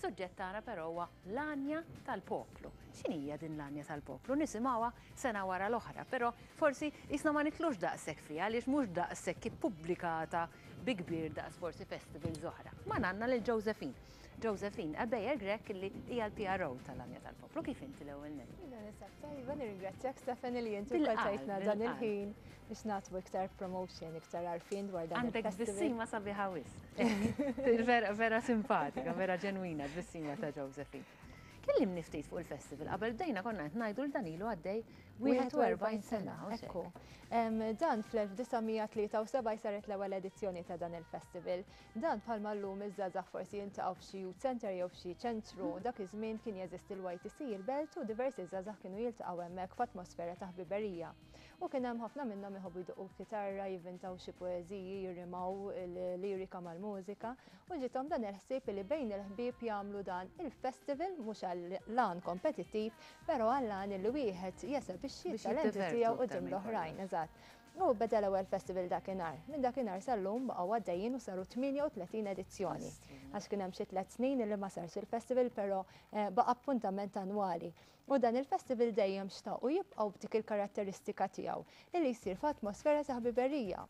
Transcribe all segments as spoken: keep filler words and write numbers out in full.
Is-suġġett tagħna però huwa l-Għanja tal-Poplu. X'inhija din l-Għanja tal-Poplu? Nisimgħuha sena wara l-oħra, però forsi jisna ma nitlux daqshekk fiha għaliex mhux daqshekk ippubblikata bi kbir daqs forsi festivals oħra. Ma għandna lil Josephine. Josephine Ebejer Grech, li hija l-P R O tal-Għanja tal-Poplu. Kif inti l-ewwel nett? Jiena ninsab tajba, nirringrazzjak, Stephanie, li inti wkoll tajtna dan il-ħin biex nagħtu iktar promotion, iktar għarfien dwar dan Għandek il-festival. Tbissima sabiħa wisq. Vera, vera simpatika, vera ġenwina tbissima ta' Josephine. Kellimni ftit fuq il-festival. Qabel bdejna konna qed ngħidu l dan ilu għaddej wieħed u erbgħin sena. U hekk. Ekku. Em, Dan fl-elf disa' mija tlieta u sebgħin saret l-ewwel edizzjoni ta' dan il-festival. Dan bħalma llum iż-żgħażagħ forsi jiltaqgħu f'xi youth center jew f'xi ċentru, dak iż-żmien kien jeżisti l-Y T C il-Belt u diversi żgħażagħ kienu jiltaqgħu hemmhekk f'atmosfera ta' ħbiberija. U kien hemm ħafna minnhom iħobbu jdoqqu kitarra, jivvintaw xi poeżiji, jirrimaw il-lirika mal-mużika u ġiethom dan il-ħsieb li bejn il-ħbieb jagħmlu dan il-festival, mhux għal-għan kompetittiv, però għall-għan li wieħed jesebixxi Biex t-talenti jiddivertu tiegħu aktar quddiem minn l-oħrajn, eżatt. U beda l-ewwel festival dakinhar. Minn dakinhar sal-lum baqgħu għaddejjin u saru tmienja u tletin edizzjoni. Għax kien hemm xi tliet snin li ma sarx il-festival, però eh, baqa' appuntament annwali. U dan il-festival dejjem xtaqu jibqgħu b'dik il-karatteristika tiegħu illi jsir f'atmosfera ta' ħbiberija.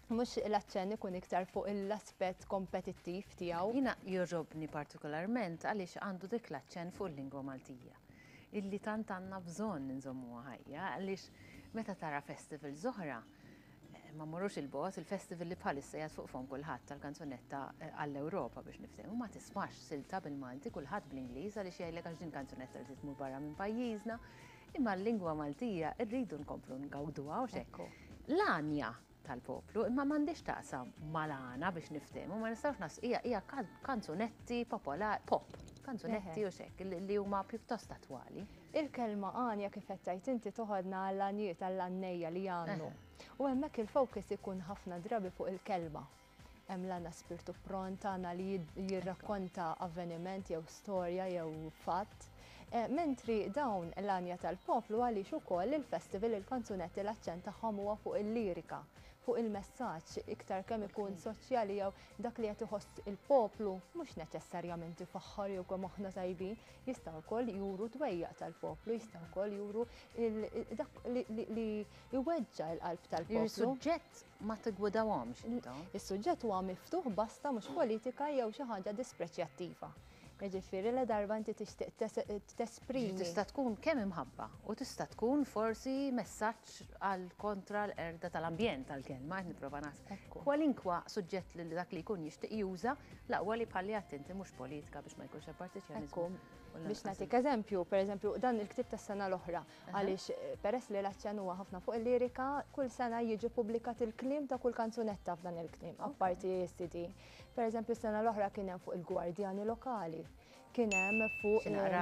Mhux l-aċċenn ikun iktar fuq l-aspett kompetittiv tiegħu. Jiena jogħġobni partikolarment għaliex għandu dik l-aċċenn fuq il-lingwa Maltija illi tant għandna bżonn nżommuha ħajja, għaliex meta tara festivals oħra, eh, ma mmorrux il-bogħod, il-festival li bħalissa jgħad fuq fom kulħadd tal-kanzunetta eh, għall-Ewropa, biex niftehmu, ma tismax silta bil-Malti, kulħadd bl-Ingliż, għaliex jgħidlek għax din kanzunetta li tmur barra minn pajjiżna, imma l-lingwa Maltija rridu nkomplu ngawduha u hekk. Ekku. L-Għanja tal-Poplu, imma m'għandix taqsam mal-għana, biex niftehmu, ma nistgħux nas hija hija kan- kanzunetti popolari, pop, kanzunetti u hekk li li huma pjuttost attwali. Il-kelma għanja, kif qed tgħid inti, toħodna għall-għanjiet, għall-għannejja li jgħannu. U hemmhekk il-focus ikun ħafna drabi fuq il-kelma. Hemm l-għana spirtu pront, għana li jid- jirrakkonta avveniment jew storja jew fatt. Eh, Mentri dawn l-Għanja tal-Poplu, għaliex ukoll il-festival, il-kanzunetti l-aċċent tagħhom huwa fuq il-lirika, fuq il-messaġġ iktar kemm ikun soċjali jew dak li qed iħoss il-poplu, mhux neċessarjament ifaħħar jew kemm aħna tajbin, jistgħu wkoll juru dwejjaq tal-poplu, jistgħu wkoll juru il- dak li, li, li jweġġa l-qalb tal-poplu. Il-suġġett ma tigwidawhomx intom. Is-suġġett huwa miftuħ, basta mhux politika jew xi ħaġa dispreċjattiva. Jiġifieri la darba inti tixtieq tes- tesprimi. Tista' tkun kemm imħabba u tista' tkun forsi messaġġ għal kontra l-qerda tal-ambjent, tal-kelma qed nipprova naħseb. Ekku. Kwalinkwa suġġett li dak li jkun jixtieq juża, l-aqwa li bħalli attenti mhux politika biex ma jkunx hemm partiċjaniżmu. Ekku, U biex lanqas nagħtik eżempju, per eżempju, dan il-ktib tas-sena l-oħra, għaliex eh, peress li l-aċċenn huwa ħafna fuq il-lirika, kull sena jiġi publikat il-kliem ta' kull kanzunetta f'dan il-kliem, apparti C D. Per eżempju, sena l-oħra kien hemm fuq il-gwardjani lokali, kien hemm fuq Xi naqra,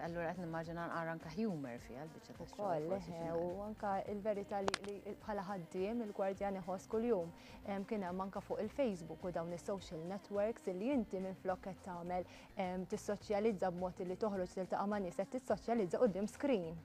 allura qed nimmaġina naqra anke humor fiha l-biċċa tax-xogħol. Ukoll, Forsi xi eħe, naqra. u anka il-verità li, li bħala ħaddiem il-gwardjan iħoss kuljum. Em, Kien hemm anka fuq il-Facebook u dawn is-social networks li inti minn flok qed tagħmel em, tissoċjalizza b'mod li toħroġ tiltaqa' ma' nies, qed tissoċjalizza quddiem screen.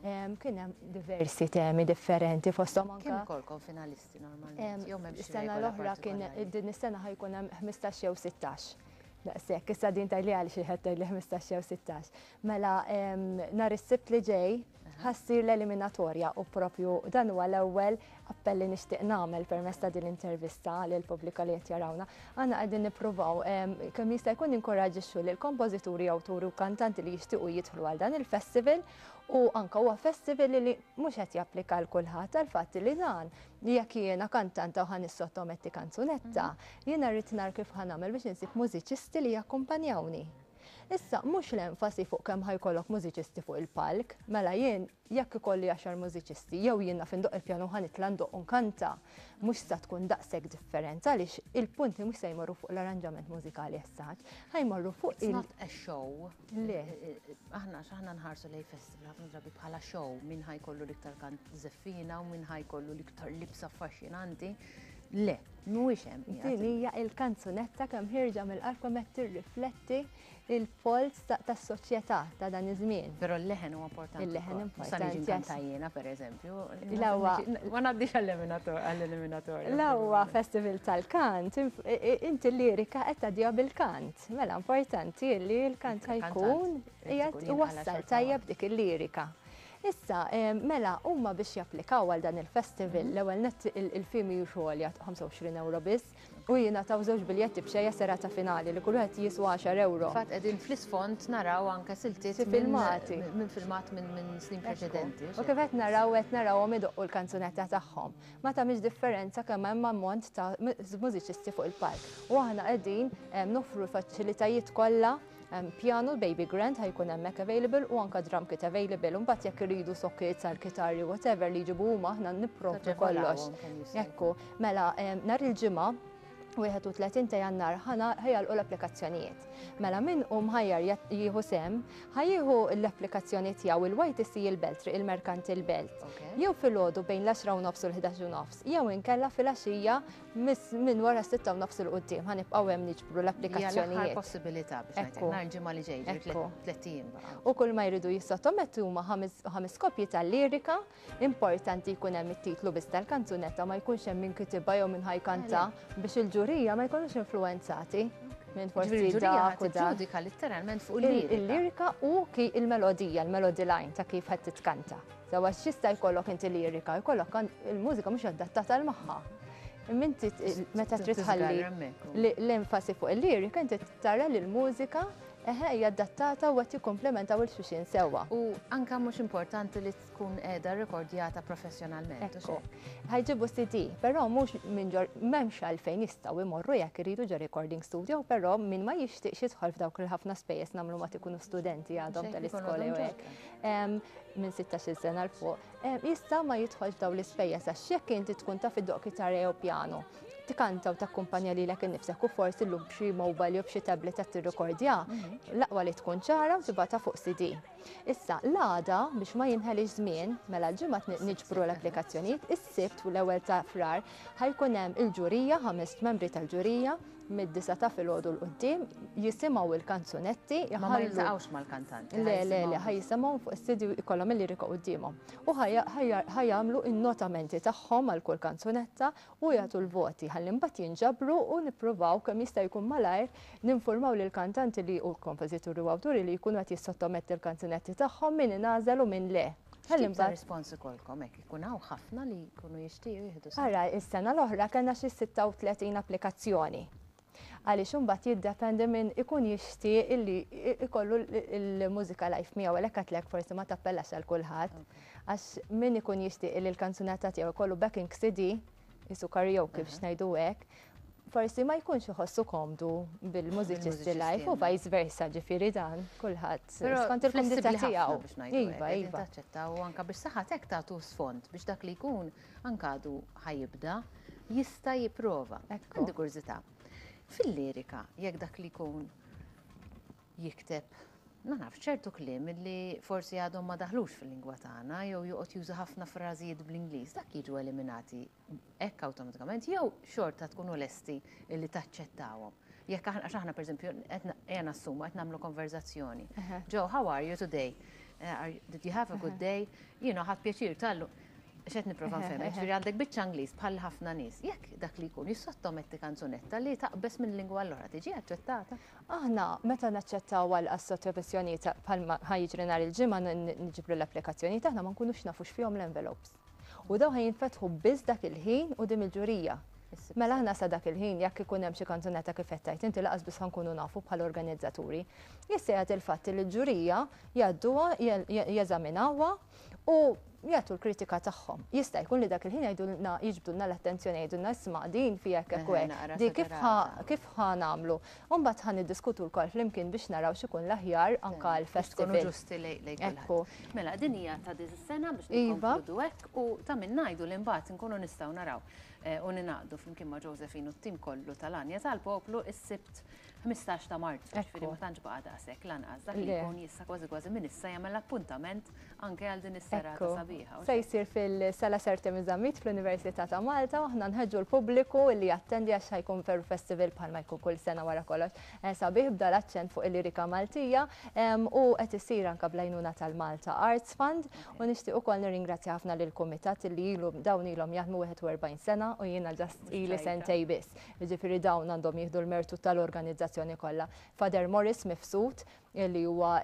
Em, Kien hemm diversi temi differenti, fosthom Kemm anka ikolkom finalisti normalment? Em, Jew m'hemmx Is-sena regola l-oħra kien partikolari? Din is-sena ħa jkun hemm ħmistax jew sittax. Daqshekk, issa din tgħidli għal xi ħadd tgħidli ħmistax jew sittax. Mela em, nhar is-Sibt li ġej ħa ssir l-eliminatorja u propju dan huwa l-ewwel appell li nixtieq nagħmel permezz ta' din l-intervista lil pubblika li qed jarawna. Aħna qegħdin nippruvaw em, kemm jista' jkun inkoraġixxu lil kompożituri, awturi u kantanti li jixtiequ jidħlu għal dan il-festival, u anka huwa festival li mhux qed japplika l kulħadd għal fatt li dan jekk jiena kantanta u ħa nissottometti kanzunetta, jiena rrid nar kif ħa nagħmel biex insib mużiċisti li jakkumpanjawni. Issa, mhux l-enfasi fuq kemm ħa jkollok mużiċisti fuq il-palk, mela jien jekk ikolli għaxar mużiċisti jew jiena fin doq il-pjanu, ħa nitla' ndoq u nkanta, mhux sa tkun daqshekk differenza, għaliex il-punti mhux se jmorru fuq l-arranġament mużikali essaġ, ħa jmorru fuq It's il- not a show. Le. Aħna x'aħna nħarsu lej festival ħafna drabi bħala show, min ħa jkollu l-iktar kant żeffina u min ħa jkollu l-iktar libsa affaxxinanti. Le, mhuwiex hemm. Din hija il-kanzunetta kemm ħierġa mill-qalb, kemm qed tirrifletti il-pols tas-soċjetà ta' dan iż-żmien. Però l-leħen huwa importanti. Il-leħen importanti. Sa niġi nkanta jiena, pereżempju. Ma ngħaddix għall-eliminatorju. L-ewwa festival tal-kant, inti l-lirika qed tgħaddiha bil-kant. Mela importanti li l-kant ħa jkun qiegħed iwassal tajjeb dik il-lirika. Issa, mela, huma biex japplikaw għal dan il-festival, l-ewwel nett il-fee mhijiex għolja, ħamsa u għoxrin euro biss, u jingħataw żewġ biljetti b'xejn serata finali li kull wieħed jiswa għaxar euro. Fatt qegħdin fl-isfond naraw anke siltiet filmati. Minn filmat minn snin preċedenti. U kif qed naraw, qed narawhom idoqqu l-kanzunetta tagħhom. Ma tagħmilx differenza kemm hemm ammont ta' mużiċisti fuq il-palk. U aħna qegħdin noffru l-faċilitajiet kollha, piano, baby grand ħa jkun hemmhekk available u anka drum kit available. Mbagħad jekk iridu sockets għal kitarri, whatever li jġibu huma, aħna nipprovdu kollox. Ekku, mela nhar il-Ġimgħa wieħed u tletin ta' Jannar ħa jagħlqu l-applikazzjonijiet. Mela min hu mħajjar jieħu sehem, ħa jieħu l-applikazzjoni tiegħu il-Y T C il-Belt, Triq il-Merkanti il-Belt. Jew filgħodu bejn l-għaxra u nofs u l-ħdax u nofs, jew inkella filgħaxija minn wara sitta u nofs 'il quddiem ħa nibqgħu hemm niġbru l-applikazzjonijiet. Possibilità biex ngħid nhar il-Ġimgħa li ġej, tlett ijiem. U kull ma jridu jissottomettu huma ħames kopji tal-lirika, importanti jkun hemm it-titlu biss tal-kanzunetta, ma jkunx hemm min kitibha jew min ħa jkanta, biex il-ġurija ma jkunux influenzati minn forsi dak u dak. Ġudika letteralment fuq il-lirika. Il-lirika u ki il-melodija, il-melody line ta' kif qed titkanta. Sewwa, x'jista' jkollok inti lirika, jkollok il-mużika mhux adattata għal magħha. Inti meta trid tħalli l-enfasi fuq il-lirika, inti tara li l-mużika eħe hija adattata u qed jikkomplementaw lil xulxin sewwa. U anka mhux importanti li tkun qiegħda rekordjata professjonalment. Ekku. Ħa jġibu C D, però mhux minn ġor, m'hemmx għalfejn, jistgħu jmorru jekk iridu ġo recording studio, però min ma jixtieqx jidħol f'dawk il-ħafna spejjeż, nagħmlu ma tikunu studenti għadhom tal-iskola jew hekk. Minn sittax-il sena 'l fuq. Jista' ma jidħolx f'daw l-ispejjeż, għax jekk inti tkun taf iddoqq kitarra jew piano, tikanta u takkumpanja lilek innifsek u forsi llum b'xi mobile jew b'xi tablet qed tirrekordja, l-aqwa li tkun ċara u tibgħatha fuq C D. Issa, l-għada, biex ma jinħelix żmien, mela l-Ġimgħa niġbru l-applikazzjonijiet, is-Sibt u l-ewwel ta' Frar ħa jkun hemm il-ġurija, ħames membri tal-ġurija, mid-disgħa ta' filgħodu 'l quddiem jisimgħu il-kanzunetti. Ma ma jiltaqgħux mal-kantanti. Le, le, le, ħa jisimgħu fuq is-C D, ikollhom il-lirika quddiemhom. U ħa jagħmlu in-notamenti tagħhom għal kull kanzunetta u jagħtu l-voti ħalli mbagħad jinġabru u nippruvaw kemm jista' jkun malajr ninformaw lil kantanti li u l-kompożituri u awturi li jkunu qed jissottometti l-kanzunetti tagħhom, min ingħażel u min le. Ħalli mbagħad rispons ikolkom hekk ikun hawn ħafna li jkunu jixtiequ jieħdu. Ara, is-sena l-oħra kellna xi sitta u tletin applikazzjoni. Għaliex imbagħad jiddependi minn ikun jixtieq illi ikollu il-mużika live miegħu, għalhekk għedtlek forsi ma tappellax għal kulħadd. Għax min ikun jixtieq illi l-kanzunetta tiegħu ikollu backing C D, qisu karaoke biex ngħidu hekk, forsi ma jkunx iħossu komdu bil-mużiċisti live u vice versa, ġifieri dan kulħadd skont il-kumdità tiegħu. Iva, iva. Taċċettaw anka biex saħatek tagħtu sfond biex dak li jkun anka għadu ħa jibda jista' jipprova. Għandi kurżità. Fil-lirika, jekk dak li jkun jikteb, ma nafx, ċertu kliem li forsi għadhom ma daħlux fil-lingwa tagħna jew joqgħod juża ħafna frażijiet bl-Ingliż, dak jiġu eliminati hekk awtomatikament jew xorta tkunu lesti li taċċettawhom? Jekk aħna, għax aħna pereżempju qed ejja nassumu qed nagħmlu konverzazzjoni. "Joe, how are you today? Uh, did you have a good day?" You know, "Ħadt pjaċir tal-lum." X'qed nipprova nfhem, ġifieri għandek biċċa Ingliż bħal ħafna nies. Jekk dak li jkun jissottometti kanzunetta li taqbes minn lingwa l-oħra, tiġi aċċettata? Aħna meta naċċettaw għal sottomissjoni bħalma ħa jiġri nhar il-Ġimgħa, niġbru l-applikazzjoni aħna ma nkunux nafux fihom l-envelopes. U daw ħa jinfetħu biss dak il-ħin u quddiem il-ġurija. Mela aħna sa dak il-ħin, jekk ikun hemm xi kanzunetta kif qed tgħid inti, lanqas biss ħa nkunu nafu bħala organizzaturi. Jista' jagħti il-fatt li l-ġurija jgħadduha, jeżaminawha u jagħtu l-kritika tagħhom. Jista' jkun li dak il-ħin jgħidulna, jiġbdulna l-attenzjoni, jgħidulna, "Isma', din fiha hekk hekk, di kif kif ħa nagħmlu?" U mbagħad ħa niddiskutu lkoll flimkien biex naraw x'ikun l-aħjar anke l-festival. Ġusti lejn kulħadd. Mela din hija ta' din is-sena biex Iva. nikkonkludu hekk u ta' min ngħidu li mbagħad nkunu nistgħu naraw eh, u ninaqdu flimkien ma' Josephine u t-tim kollu tal-Għanja tal-Poplu is-Sibt ħmistax ta' Marzu, ġifieri ma tantx baqa' daqshekk lanqas, dak li jkun jista' kważi kważi minn issa jagħmel appuntament anke għal din is-serata sabiħa. Se jsir fil-Sala Sir Temi Zammit fl-Università ta' Malta, u aħna nħeġġu l-pubbliku li jattendi għax ħa jkun veru festival bħalma jkun kull sena wara kollox. Sabiħ b'dan l-aċċent fuq il-lirika Maltija, u qed isir anke bl-għajnuna tal-Malta Arts Fund, u nixtieq ukoll nirringrazzja ħafna lill-kumitat li ilu dawn ilhom jaħdmu wieħed u erbgħin sena u jiena just ili sentej biss. Jiġifieri dawn għandhom jieħdu l-mertu tal-organizzazzjoni kollha. Father Morris Mifsud, li huwa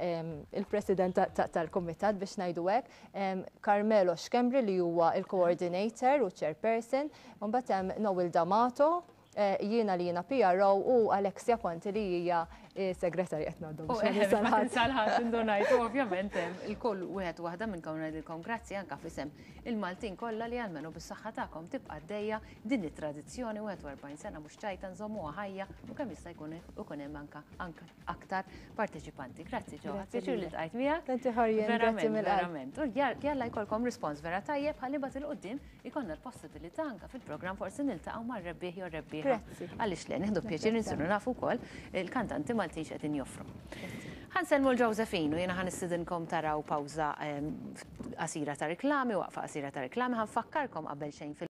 il-president tal-kumitat biex ngħidu hekk, Carmelo Schembri li huwa il-coordinator u chairperson, u mbagħad hemm Noel D'Amato, eh, jiena li jiena P R O u Alexia Conti li hija segretarja qed ngħaddu. U ma tinsalħat indunajt, ovvjament il-kull wieħed waħda minnkom ngħidilkom grazzi anke f'isem il-Maltin kollha li almenu bis-saħħa tagħkom tibqa' għaddejja din it-tradizzjoni wieħed u erbgħin sena mhux ċajta, nżommuha ħajja u kemm jista' jkun ikun hemm anke anke aktar parteċipanti. Grazzi ġo, pjaċir li ltqajt miegħek. Tanti ħarjen, grazzi Verament, mill-qalb. Verament. U jalla jkollkom rispons vera tajjeb ħalli mbagħad 'il quddiem ikollna l-possibilità anke fil-programm forsi niltaqgħu mar-rebbieħ jew rebbieħa. Grazzi. Għaliex le, nieħdu pjaċir nsiru nafu wkoll il-kantanti Maltin x'qegħdin joffru. Ħa nsellmu lil Josephine u jiena ħa nistedinkom taraw pawża qasira ta' reklami, waqfa qasira ta' reklami, ħa nfakkarkom qabel xejn fil